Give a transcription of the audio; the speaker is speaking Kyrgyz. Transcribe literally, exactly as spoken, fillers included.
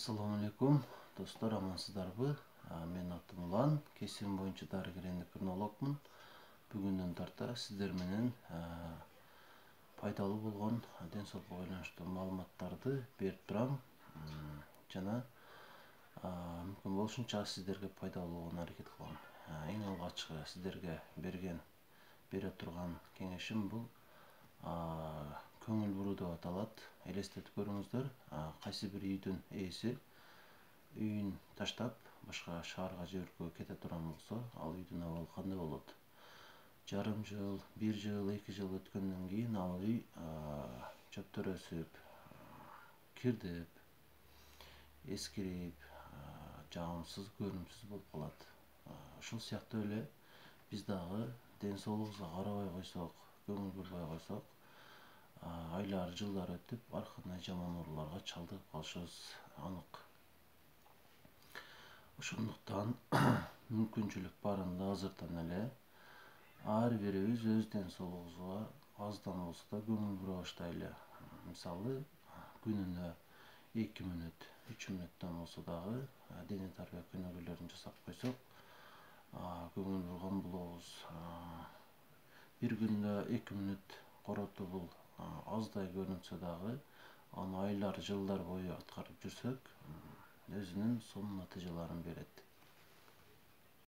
Assalamu alaikum достор, амансыздарбы? Мен атым Улан, кесим боюнча дарыгер эндокринологмун. Бүгүндөн тарта сиздер менен пайдалуу болгон ден соолукка байланыштуу маалыматтарды берип турам. Жана мүмкүн болушунча сиздерге пайдалуу болгонуна аракет кылам. Эң алгачкы сиздерге берген бере турган кеңешим бул көңүл буруу деп аталат. Элестетип көрүңүздөр, кайсы бир үйдүн ээси үйүн таштап башка шаарга же өлкөгө кете турган болсо, ал үйдүн абалы кандай болот? Жарым жыл, бир жыл, эки жыл өткөндөн кийин ал үй чөптөр өсүп, кирдип, эскирип, жагымсыз, көрүмсүз болуп калат. Ушул сыяктуу эле биз дагы ден соолугубузга карабай койсок, көңүл бурбай койсок, айлар, жылдар өтүп, ар кандай жаман ооруларга чалдыгып калышыбыз анык. Ошондуктан мүмкүнчүлүк барында азыртан эле ар бирибиз өз ден соолугубузга аздан болсо да көңүл бура баштайлы. Мисалы, күнүнө эки мүнөт, үч мүнөттөн болсо дагы дене тарбия күнөөлөрүн жасап койсок, көңүл бурган болобуз. Бир күндө эки мүнөт коротуу бул аздай көрүнсө дагы, аны айлар, жылдар бою аткарып жүрсөк, өзүнүн сонун натыйжаларын берет.